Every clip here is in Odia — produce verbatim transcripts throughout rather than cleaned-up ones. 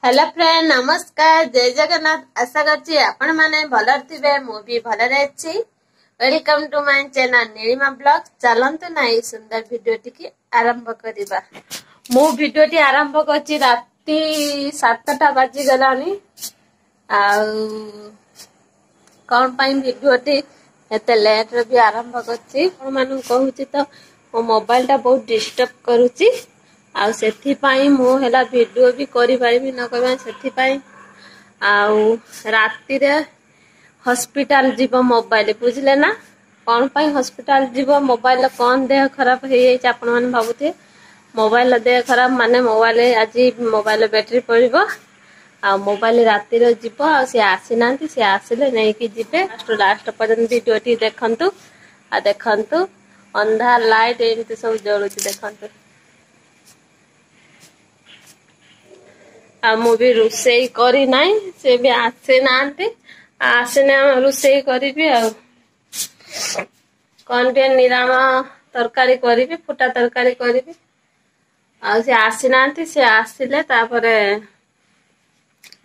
ହ୍ୟାଲୋ ଫ୍ରେଣ୍ଡ, ନମସ୍କାର, ଜୟ ଜଗନ୍ନାଥ। ଆଶା କରୁଛି ଆପଣମାନେ ଭଲରେ ଥିବେ, ମୁଁ ବି ଭଲରେ ଅଛି। Welcome to my channel Nilima blog. ଚାଲନ୍ତୁ ନା ଏଇ ସୁନ୍ଦର ଭିଡିଓଟିକି ଆରମ୍ଭ କରିବା। ମୁଁ ଭିଡିଓଟି ଆରମ୍ଭ କରିଛି ରାତି ସାତଟା ବାଜିଗଲାଣି। ଆଉ କଣ ପାଇଁ ଭିଡିଓଟି ଏତେ ଲେଟରେ ବି ଆରମ୍ଭ କରିଛି, ଆପଣମାନଙ୍କୁ କହୁଛି ତ, ମୋ ମୋବାଇଲଟା ବହୁତ ଡିଷ୍ଟର୍ବ କରୁଛି ଆଉ ସେଥିପାଇଁ ମୁଁ ହେଲା ଭିଡିଓ ବି କରିପାରିବି ନ କରିବା ସେଥିପାଇଁ। ଆଉ ରାତିରେ ହସ୍ପିଟାଲ ଯିବ ମୋବାଇଲ, ବୁଝିଲେ ନା? କଣ ପାଇଁ ହସ୍ପିଟାଲ ଯିବ ମୋବାଇଲ, କଣ ଦେହ ଖରାପ ହେଇଯାଇଛି ଆପଣମାନେ ଭାବୁଥିବେ। ମୋବାଇଲ ଦେହ ଖରାପ ମାନେ ମୋବାଇଲ ଆଜି ମୋବାଇଲ ବ୍ୟାଟେରୀ ପଡ଼ିବ ଆଉ ମୋବାଇଲ ରାତିରେ ଯିବ। ଆଉ ସିଏ ଆସିନାହାନ୍ତି, ସିଏ ଆସିଲେ ନେଇକି ଯିବେ। ଲାଷ୍ଟ ଲାଷ୍ଟ ପର୍ଯ୍ୟନ୍ତ ଭିଡିଓଟି ଦେଖନ୍ତୁ। ଆଉ ଦେଖନ୍ତୁ, ଅନ୍ଧାର ଲାଇଟ୍ ଏମିତି ସବୁ ଜଳୁଛି ଦେଖନ୍ତୁ। ଆଉ ମୁଁ ବି ରୋଷେଇ କରିନାହିଁ, ସେ ବି ଆସିନାହାନ୍ତି। ଆସିନେ ଆମେ ରୋଷେଇ କରିବି ଆଉ କଣ ଟିକେ ନିରାମ ତରକାରୀ କରିବି, ଫୁଟା ତରକାରୀ କରିବି। ଆଉ ସେ ଆସିନାହାନ୍ତି, ସେ ଆସିଲେ ତାପରେ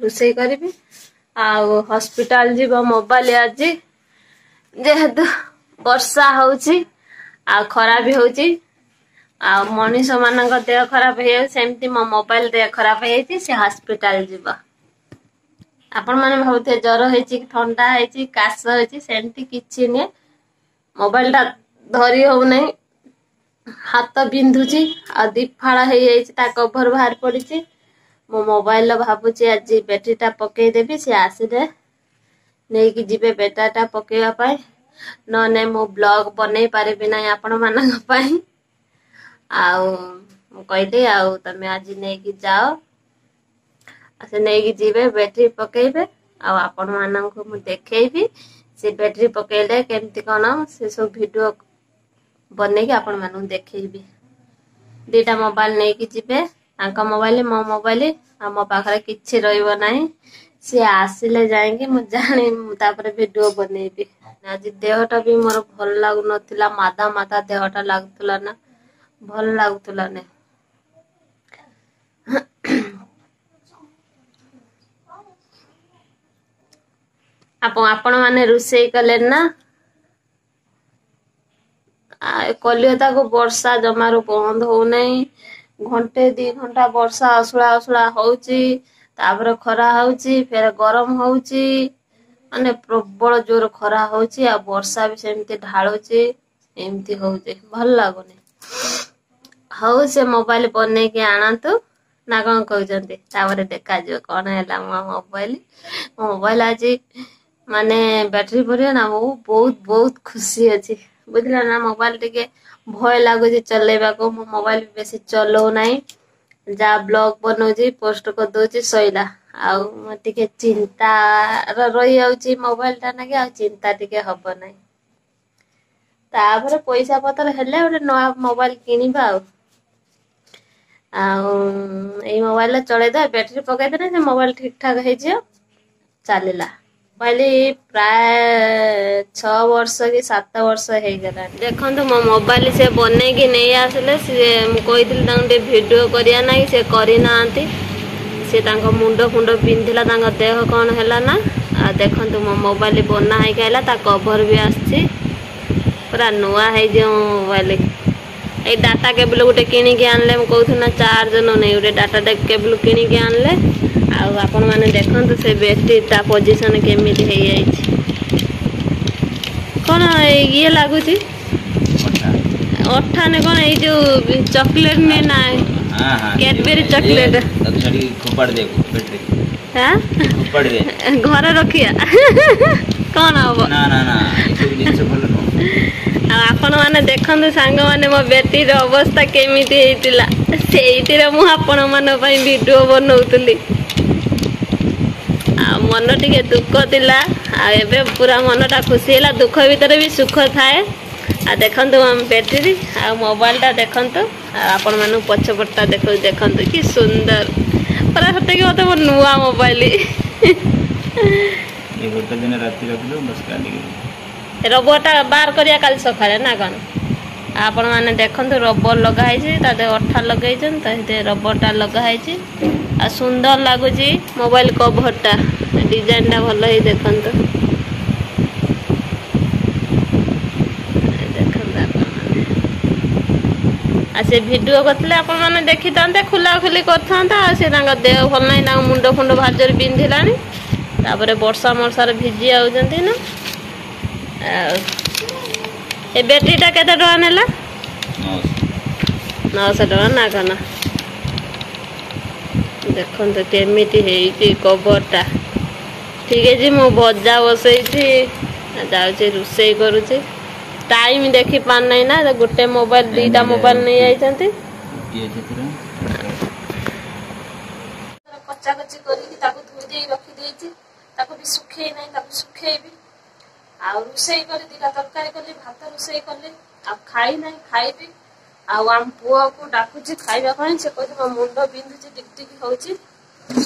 ରୋଷେଇ କରିବି। ଆଉ ହସ୍ପିଟାଲ ଯିବ ମୋବାଇଲ ଆଜି, ଯେହେତୁ ବର୍ଷା ହଉଛି ଆଉ ଖରା ବି ହଉଛି ଆଉ ମଣିଷ ମାନଙ୍କ ଦେହ ଖରାପ ହେଇଯାଉଛି, ସେମିତି ମୋ ମୋବାଇଲ ଦେହ ଖରାପ ହେଇଯାଇଛି, ସେ ହସ୍ପିଟାଲ ଯିବ। ଆପଣ ମାନେ ଭାବୁଥିବେ ଜ୍ୱର ହେଇଛି କି ଥଣ୍ଡା ହେଇଛି, କାଶ ହେଇଛି, ସେମିତି କିଛି ନୁହେଁ। ମୋବାଇଲଟା ଧରି ହଉନାହିଁ, ହାତ ବିନ୍ଧୁଛି ଆଉ ଦିଫାଳ ହେଇଯାଇଛି, ତା କଭର ବାହାରି ପଡିଛି। ମୋ ମୋବାଇଲର ଭାବୁଛି ଆଜି ବ୍ୟାଟେରୀଟା ପକେଇଦେବି, ସେ ଆସିଲେ ନେଇକି ଯିବେ ବ୍ୟାଟେରୀଟା ପକେଇବା ପାଇଁ। ନହେଲେ ମୁଁ ବ୍ଲଗ ବନେଇ ପାରିବି ନାହିଁ ଆପଣମାନଙ୍କ ପାଇଁ। ଆଉ ମୁଁ କହିଲି ଆଉ ତମେ ଆଜି ନେଇକି ଯାଅ, ସେ ନେଇକି ଯିବେ, ବ୍ୟାଟେରୀ ପକେଇବେ ଆଉ ଆପଣମାନଙ୍କୁ ମୁଁ ଦେଖେଇବି ସେ ବ୍ୟାଟେରୀ ପକେଇଲେ କେମିତି କଣ, ସେ ସବୁ ଭିଡିଓ ବନେଇକି ଆପଣମାନଙ୍କୁ ଦେଖେଇବି। ଦିଟା ମୋବାଇଲ ନେଇକି ଯିବେ, ତାଙ୍କ ମୋବାଇଲ, ମୋ ମୋବାଇଲ, ଆଉ ମୋ ପାଖରେ କିଛି ରହିବ ନାହିଁ। ସିଏ ଆସିଲେ ଯାଇକି ମୁଁ ଜାଣି ତାପରେ ଭିଡିଓ ବନେଇବି। ଆଜି ଦେହଟା ବି ମୋର ଭଲ ଲାଗୁନଥିଲା, ମାଦା ମାଦା ଦେହଟା ଲାଗୁଥିଲା ନା, ଭଲ ଲାଗୁଥିଲା ନା। ଆପଣ ଆପଣ ମାନେ ରୋଷେଇ କଲେ ନା? କଲିକତାକୁ ବର୍ଷା ଜମାରୁ ବନ୍ଦ ହଉନାହିଁ। ଘଣ୍ଟେ ଦି ଘଣ୍ଟା ବର୍ଷା ଅସୁଳା ଅସୁଳା ହଉଛି, ତାପରେ ଖରା ହଉଛି, ଫେର ଗରମ ହଉଛି। ମାନେ ପ୍ରବଳ ଜୋର ଖରା ହଉଛି ଆଉ ବର୍ଷା ବି ସେମିତି ଢାଳୁଛି, ଏମିତି ହଉଛି, ଭଲ ଲାଗୁନି। ହଉ, ସେ ମୋବାଇଲ ବନେଇକି ଆଣନ୍ତୁ ନା କଣ କହୁଛନ୍ତି? ତାପରେ ଦେଖାଯିବ କଣ ହେଲା। ମୋ ମୋବାଇଲ ମୋ ମୋବାଇଲ ଆଜି ମାନେ ବ୍ୟାଟେରୀ ପଡ଼ିବ ନା, ମୁଁ ବହୁତ ବହୁତ ଖୁସି ଅଛି, ବୁଝିଲ ନା? ମୋବାଇଲ ଟିକେ ଭୟ ଲାଗୁଛି ଚଲେଇବାକୁ, ମୁଁ ମୋବାଇଲ ବେଶୀ ଚଲଉନାହିଁ। ଯାହା ବ୍ଲଗ ବନଉଛି ପୋଷ୍ଟ କରିଦଉଛି, ସଇଲା। ଆଉ ମୁଁ ଟିକେ ଚିନ୍ତାର ରହିଯାଉଛି ମୋବାଇଲଟା ନାଗି, ଆଉ ଚିନ୍ତା ଟିକେ ହବ ନାହିଁ। ତାପରେ ପଇସା ପତ୍ର ହେଲେ ଗୋଟେ ନୂଆ ମୋବାଇଲ କିଣିବା। ଆଉ ଆଉ ଏଇ ମୋବାଇଲଟା ଚଳେଇଦବା, ବ୍ୟାଟେରୀ ପକେଇଦେଲେ ସେ ମୋବାଇଲ ଠିକ ଠାକ ହେଇଯିବ, ଚାଲିଲା। ମୋବାଇଲ ପ୍ରାୟ ଛଅ ବର୍ଷ କି ସାତ ବର୍ଷ ହେଇଗଲାଣି। ଦେଖନ୍ତୁ, ମୋ ମୋବାଇଲ ସେ ବନେଇକି ନେଇ ଆସିଲେ। ସିଏ ମୁଁ କହିଥିଲି ତାଙ୍କୁ ଟିକେ ଭିଡିଓ କରିବା ନାହିଁ, ସେ କରିନାହାନ୍ତି। ସେ ତାଙ୍କ ମୁଣ୍ଡ ଫୁଣ୍ଡ ବିନ୍ଧିଲା, ତାଙ୍କ ଦେହ କଣ ହେଲା ନା। ଆଉ ଦେଖନ୍ତୁ, ମୋ ମୋବାଇଲ ବନା ହେଇକି ଆଇଲା, ତା କଭର ବି ଆସିଛି, ପୁରା ନୂଆ ହେଇଯିବ ମୋ ମୋବାଇଲ। ଏଇ ଡାଟା କେବୁଲ ଗୋଟେ କିଣିକି ଆଣିଲେ, ମୁଁ କହୁଥିଲି ନା ଚାର୍ଜ ନଉନାହିଁ, ଗୋଟେ ଡାଟା କେବୁଲ କିଣିକି ଆଣିଲେ। ଆଉ ଆପଣମାନେ ଦେଖନ୍ତୁ ସେ ବ୍ୟାଟେରୀ ତା ପୋଜିସନ କେମିତି ହେଇଯାଇଛି। କଣ ଇଏ ଲାଗୁଛି, ଅଠା ନା କଣ? ଏଇ ଯୋଉ ଚକୋଲେଟ ନୁହେଁ ନା, କ୍ୟାଡବେରୀ ଚକୋଲେଟ। ଘରେ ରଖିବା କଣ ହବ? ଆଉ ଆପଣମାନେ ଦେଖନ୍ତୁ ସାଙ୍ଗମାନେ, ମୋ ବ୍ୟାଟେରୀର ଅବସ୍ଥା କେମିତି ହେଇଥିଲା, ସେଇଥିରେ ମୁଁ ଆପଣମାନଙ୍କ ପାଇଁ ଭିଡିଓ ବନଉଥିଲି ଆଉ ମନ ଟିକେ ଦୁଃଖ ଥିଲା। ଆଉ ଏବେ ପୁରା ମନଟା ଖୁସି ହେଲା, ଦୁଃଖ ଭିତରେ ବି ସୁଖ ଥାଏ। ଆଉ ଦେଖନ୍ତୁ ଆମ ବ୍ୟାଟେରୀ ଆଉ ମୋବାଇଲଟା ଦେଖନ୍ତୁ, ଆଉ ଆପଣମାନଙ୍କୁ ପଛପଟଟା ଦେଖ ଦେଖନ୍ତୁ କି ସୁନ୍ଦର ପୁରା, ସତେକି ମତେ ମୋ ନୂଆ ମୋବାଇଲ। ଗୋଟେ ଦିନ ରାତି ରଖିଦେବୁ ବସ୍, କାଲି ରବରଟା ବାହାର କରିବା କାଲି ସକାଳେ ନା କଣ? ଆପଣମାନେ ଦେଖନ୍ତୁ, ରବର ଲଗା ହେଇଛି ତା ଦେହରେ, ଅଠା ଲଗେଇଛନ୍ତି ତ ସେଥିରେ ରବରଟା ଲଗା ହେଇଛି। ଆଉ ସୁନ୍ଦର ଲାଗୁଛି ମୋବାଇଲ କଭରଟା, ଡିଜାଇନଟା ଭଲ ହେଇ। ଦେଖନ୍ତୁ, ଦେଖନ୍ତୁ ଆପଣମାନେ। ଆଉ ସେ ଭିଡ଼ିଓ କରିଥିଲେ ଆପଣମାନେ ଦେଖିଥାନ୍ତେ, ଖୋଲା ଖୋଲି କରିଥାନ୍ତା। ଆଉ ସେ ତାଙ୍କ ଦେହ ଭଲ ନାହିଁ, ତାଙ୍କ ମୁଣ୍ଡ ଫୁଣ୍ଡ ଭାରି ଜୋରେ ବିନ୍ଧିଲାଣି, ତାପରେ ବର୍ଷା ମର୍ଷାରେ ଭିଜି ଯାଉଛନ୍ତି ନା। ଆଉ ଏ ବ୍ୟାଟେରୀଟା କେତେ ଟଙ୍କା ନେଲା? ନଅଶହ ଟଙ୍କା ନା କଣ? ଦେଖନ୍ତୁ କେମିତି ହେଇଛି କଭରଟା। ଠିକ ଅଛି, ମୁଁ ଭଜା ବସେଇଛି, ଯାଉଛି ରୋଷେଇ କରୁଛି। ଟାଇମ ଦେଖି ପାରୁନାହିଁ ନା, ଗୋଟେ ମୋବାଇଲ ଦିଟା ମୋବାଇଲ ନେଇଯାଇଛନ୍ତି। କଚାକଚି କରିକି ତାକୁ ଧୋଇ ଦେଇ ରଖିଦେଇଛି, ତାକୁ ବି ଶୁଖେଇ ନାହିଁ, ତାକୁ ଶୁଖେଇବି। ଆଉ ରୋଷେଇ କରି ଦିଟା ତରକାରୀ କଲି, ଭାତ ରୋଷେଇ କଲି, ଆଉ ଖାଇ ନାହିଁ, ଖାଇବି। ଆଉ ଆମ ପୁଅକୁ ଡାକୁଛି ଖାଇବା ପାଇଁ, ସେ କହୁଛି ମୋ ମୁଣ୍ଡ ବିନ୍ଧୁଛି, ଟିକ ଟିକ ହଉଛି।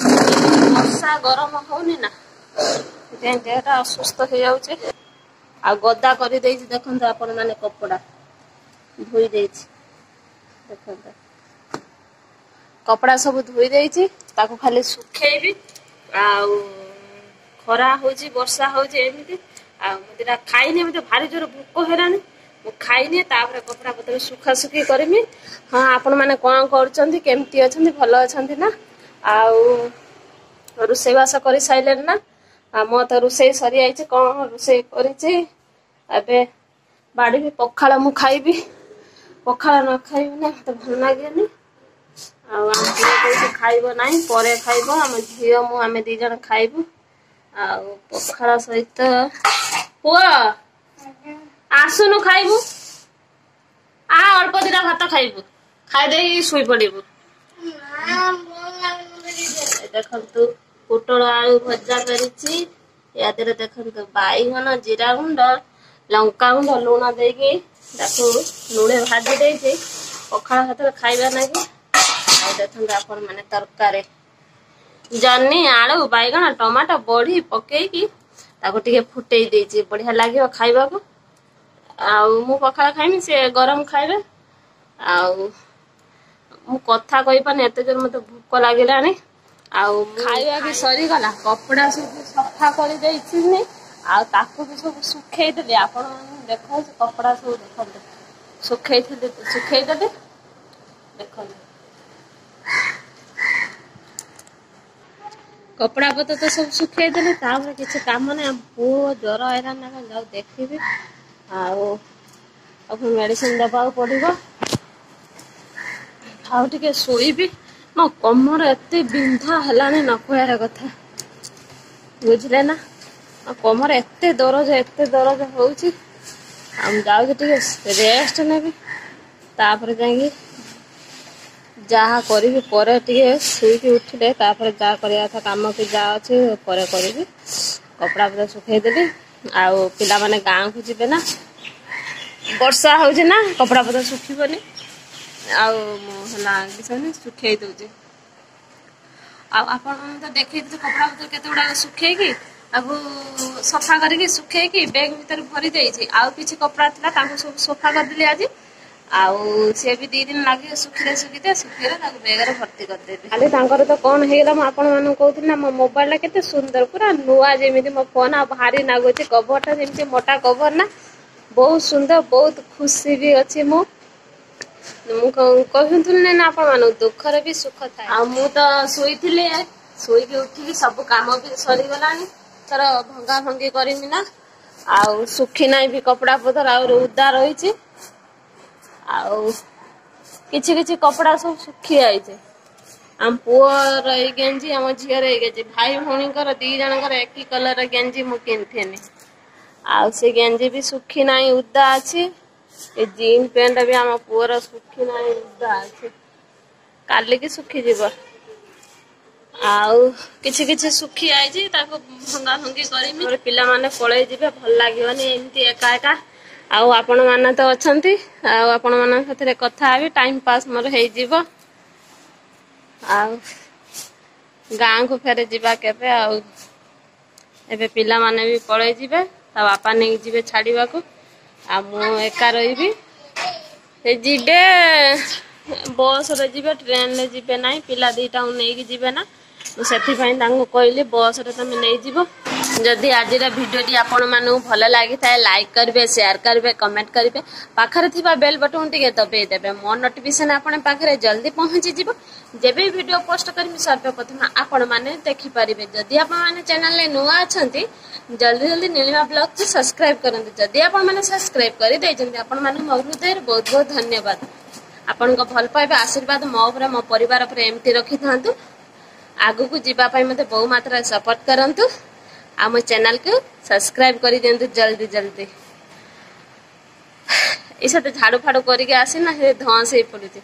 ବର୍ଷା ଗରମ ହଉନି ନା, ସେଥିପାଇଁ ଦେହଟା ଅସୁସ୍ଥ ହେଇଯାଉଛି। ଆଉ ଗଦା କରିଦେଇଛି, ଦେଖନ୍ତୁ ଆପଣ ମାନେ, କପଡା ଧୋଇ ଦେଇଛି। ଦେଖନ୍ତୁ, କପଡା ସବୁ ଧୋଇ ଦେଇଛି, ତାକୁ ଖାଲି ଶୁଖେଇବି। ଆଉ ଖରା ହଉଛି, ବର୍ଷା ହଉଛି ଏମିତି। ଆଉ ମୁଁ ଦିଟା ଖାଇନି, ମତେ ଭାରି ଜୋର ଭୋକ ହେଲାଣି। ମୁଁ ଖାଇନି, ତାପରେ କପଡା ପତ୍ର ଶୁଖାଶୁଖି କରିମି। ହଁ, ଆପଣ ମାନେ କଣ କରୁଛନ୍ତି? କେମିତି ଅଛନ୍ତି? ଭଲ ଅଛନ୍ତି ନା? ଆଉ ରୋଷେଇବାସ କରିସାରିଲେଣି ନା? ଆଉ ମୋର ତ ରୋଷେଇ ସରିଯାଇଛି। କଣ ରୋଷେଇ କରିଛି, ଏବେ ବାଡ଼ିବି ପଖାଳ ମୁଁ ଖାଇବି। ପଖାଳ ନ ଖାଇବି ନା ମତେ ଭଲ ଲାଗେନି। ଆଉ ଆମ ପୁଅ କହୁଛି ଖାଇବ ନାହିଁ, ପରେ ଖାଇବ। ଆମ ଝିଅ ମୁଁ ଆମେ ଦି ଜଣ ଖାଇବୁ। ଆଉ ପଖାଳ ସହିତ, ପୁଅ ଆସୁନୁ ଖାଇବୁ, ଆ ଅଳ୍ପ ଦିଟା ଭାତ ଖାଇବୁ, ଖାଇଦେଇକି ଶୋଇ ପଡିବୁ। ଦେଖନ୍ତୁ, ପୋଟଳ ଆଳୁ ଭଜା କରିଛି। ୟା ଦେହରେ ଦେଖନ୍ତୁ ବାଇଗଣ, ଜିରା ଗୁଣ୍ଡ, ଲଙ୍କା ଗୁଣ୍ଡ, ଲୁଣ ଦେଇକି ତାକୁ ଲୁଣେ ଭାଜି ଦେଇଛି ପଖାଳ ଭାତରେ ଖାଇବା ନାଗି। ଆଉ ଦେଖନ୍ତୁ ଆପଣ ମାନେ, ତରକାରୀ ଜହ୍ନି, ଆଳୁ, ବାଇଗଣ, ଟମାଟୋ, ବଢି ପକେଇକି ତାକୁ ଟିକେ ଫୁଟେଇ ଦେଇଛି, ବଢିଆ ଲାଗିବ ଖାଇବାକୁ। ଆଉ ମୁଁ ପଖାଳ ଖାଇମି, ସେ ଗରମ ଖାଇବେ। ଆଉ ମୁଁ କଥା କହିପାରୁନି, ଏତେ ଜୋର ମତେ ଭୋକ ଲାଗିଲାଣି। ଆଉ ଖାଇବା ବି ସରିଗଲା, କପଡା ସବୁ ସଫା କରିଦେଇଛି, ଆଉ ତାକୁ ବି ସବୁ ଶୁଖେଇଦେଲି। ଆପଣ ଦେଖନ୍ତୁ, କପଡା ସବୁ ଦେଖନ୍ତୁ, ଶୁଖେଇଥିଲି, ଶୁଖେଇଦେଲି। ଦେଖନ୍ତୁ, କପଡା ପତ୍ର ତ ସବୁ ଶୁଖେଇଦେଲି, ତାପରେ କିଛି କାମ ନାହିଁ। ଆମ ପୁଅ ଜ୍ୱର ହେଲାଣି ନା କଣ, ଯାଉ ଦେଖିବି। ଆଉ ଆଉ ମେଡିସିନ ଦେବାକୁ ପଡିବ। ଆଉ ଟିକେ ଶୋଇବି। ମୋ କମର ଏତେ ବିନ୍ଧା ହେଲାଣି ନ କହିବାର କଥା, ବୁଝିଲେ ନା? ଆଉ କମର ଏତେ ଦରଜ, ଏତେ ଦରଜ ହଉଛି। ଆଉ ମୁଁ ଯାଉଛି ଟିକେ ରେଷ୍ଟ ନେବି, ତାପରେ ଯାଇକି ଯାହା କରିବି ପରେ। ଟିକେ ଶୋଇକି ଉଠିଲେ ତାପରେ ଯାହା କରିବା କଥା କାମ କି ଯାହା ଅଛି ପରେ କରିବି। କପଡ଼ା ପତ୍ର ଶୁଖେଇଦେଲି। ଆଉ ପିଲାମାନେ ଗାଁକୁ ଯିବେ ନା, ବର୍ଷା ହଉଛି ନା, କପଡ଼ା ପତ୍ର ଶୁଖିବନି। ଆଉ ମୁଁ ହେଲା କିଛି ଶୁଖେଇ ଦଉଛି। ଆଉ ଆପଣ ତ ଦେଖେଇଥିଲି କପଡ଼ା ପତ୍ର କେତେ ଗୁଡାକ ଶୁଖେଇକି, ତାକୁ ସଫା କରିକି ଶୁଖେଇକି ବ୍ୟାଗ ଭିତରେ ଭରି ଦେଇଛି। ଆଉ କିଛି କପଡ଼ା ଥିଲା, ତାକୁ ସବୁ ସଫା କରିଦେଲି ଆଜି। ଆଉ ସିଏ ବି ଦି ଦିନ ଲାଗିବ ଶୁଖିଲେ, ଶୁଖିତେ ଶୁଖିଲେ ତାକୁ ବ୍ୟାଗରେ ଭର୍ତ୍ତି କରିଦେବି। ଖାଲି ତାଙ୍କର ତ କଣ ହେଇଗଲା, ମୁଁ ଆପଣ ମାନଙ୍କୁ କହୁଥିଲି ନା, ମୋ ମୋବାଇଲ ଟା କେତେ ସୁନ୍ଦର, ପୁରା ନୂଆ ଯେମିତି ମୋ ଫୋନ। ଆଉ ଭାରି ନାଗୁଛି କଭରଟା ଯେମିତି ମୋଟା କଭର ନା, ବହୁତ ସୁନ୍ଦର, ବହୁତ ଖୁସି ବି ଅଛି ମୁଁ। ମୁଁ କହୁଥିଲି ନା ଆପଣ ମାନଙ୍କୁ, ଦୁଃଖରେ ବି ସୁଖ ଥାଏ। ଆଉ ମୁଁ ତ ଶୋଇଥିଲି, ଶୋଇକି ଉଠିକି ସବୁ କାମ ବି ସରିଗଲାଣି। ଥର ଭଙ୍ଗା ଭଙ୍ଗି କରିମି ନା, ଆଉ ଶୁଖି ନାହିଁ ବି କପଡା ପତର, ଆଉ ଉଦା ରହିଛି। ଆଉ କିଛି କିଛି କପଡା ସବୁ ଶୁଖି ଯାଇଛି। ଆମ ପୁଅର ଏଇ ଗେଞ୍ଜି, ଆମ ଝିଅର ଏଇ ଗେଞ୍ଜି, ଭାଇ ଭଉଣୀଙ୍କର ଦି ଜଣଙ୍କର ଏକି କଲର ଗେଞ୍ଜି ମୁଁ କିଣିଥିନି। ଆଉ ସେ ଗେଞ୍ଜି ବି ଶୁଖି ନାହିଁ, ଉଦା ଅଛି। ଏ ଜିନ୍ ପ୍ୟାଣ୍ଟ ବି ଆମ ପୁଅର ଶୁଖି ନାହିଁ, ଉଦା ଅଛି, କାଲିକି ଶୁଖିଯିବ। ଆଉ କିଛି କିଛି ଶୁଖି ଯାଇଛି, ତାକୁ ଭଙ୍ଗା ଭଙ୍ଗି କରିମି। ପିଲାମାନେ ପଳେଇ ଯିବେ, ଭଲ ଲାଗିବନି ଏମିତି ଏକା ଏକା। ଆଉ ଆପଣ ମାନେ ତ ଅଛନ୍ତି, ଆଉ ଆପଣ ମାନଙ୍କ ସାଥିରେ କଥା ହେବି, ଟାଇମ ପାସ୍ ମୋର ହେଇଯିବ। ଆଉ ଗାଁକୁ ଫେରେ ଯିବା କେବେ? ଆଉ ଏବେ ପିଲାମାନେ ବି ପଳେଇ ଯିବେ, ତା ବାପା ନେଇକି ଯିବେ ଛାଡିବାକୁ, ଆଉ ମୁଁ ଏକା ରହିବି। ସେ ଯିବେ, ବସରେ ଯିବେ, ଟ୍ରେନରେ ଯିବେ ନାହିଁ। ପିଲା ଦୁଇଟାକୁ ନେଇକି ଯିବେ ନା, ମୁଁ ସେଥିପାଇଁ ତାଙ୍କୁ କହିଲି ବସରେ ତମେ ନେଇଯିବ। ଯଦି ଆଜିର ଭିଡ଼ିଓଟି ଆପଣମାନଙ୍କୁ ଭଲ ଲାଗିଥାଏ, ଲାଇକ୍ କରିବେ, ସେୟାର କରିବେ, କମେଣ୍ଟ କରିବେ, ପାଖରେ ଥିବା ବେଲ୍ ବଟନ୍ ଟିକେ ଦବେଇ ଦେବେ। ମୋ ନୋଟିଫିକେସନ୍ ଆପଣଙ୍କ ପାଖରେ ଜଲ୍ଦି ପହଞ୍ଚିଯିବ। ଯେବେ ଭିଡ଼ିଓ ପୋଷ୍ଟ କରିବି, ସର୍ବପ୍ରଥମେ ଆପଣମାନେ ଦେଖିପାରିବେ। ଯଦି ଆପଣମାନେ ଚ୍ୟାନେଲରେ ନୂଆ ଅଛନ୍ତି, ଜଲ୍ଦି ଜଲ୍ଦି ନୀଳିମା ବ୍ଲଗକୁ ସବସ୍କ୍ରାଇବ୍ କରନ୍ତୁ। ଯଦି ଆପଣମାନେ ସବସ୍କ୍ରାଇବ୍ କରିଦେଇଛନ୍ତି, ଆପଣମାନଙ୍କୁ ମୋ ହୃଦୟରେ ବହୁତ ବହୁତ ଧନ୍ୟବାଦ। ଆପଣଙ୍କ ଭଲ ପାଇବା, ଆଶୀର୍ବାଦ ମୋ ଉପରେ, ମୋ ପରିବାର ଉପରେ ଏମିତି ରଖିଥାନ୍ତୁ। ଆଗକୁ ଯିବା ପାଇଁ ମୋତେ ବହୁ ମାତ୍ରାରେ ସପୋର୍ଟ କରନ୍ତୁ ଆଉ ମୋ ଚ୍ୟାନେଲକୁ ସବସ୍କ୍ରାଇବ୍ କରିଦିଅନ୍ତୁ ଜଲ୍ଦି ଜଲ୍ଦି। ଏ ସାଥେ ଝାଡ଼ୁ ଫାଡ଼ୁ କରିକି ଆସିନା, ସେ ଧଁସ ହେଇ ପଡୁଛି।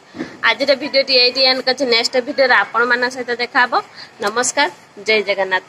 ଆଜିର ଭିଡ଼ିଓଟି ଏଇଠି ଏଣ୍ଡ କରିଛି। ନେକ୍ସଟ ଭିଡ଼ିଓରେ ଆପଣମାନଙ୍କ ସହିତ ଦେଖା ହବ। ନମସ୍କାର, ଜୟ ଜଗନ୍ନାଥ।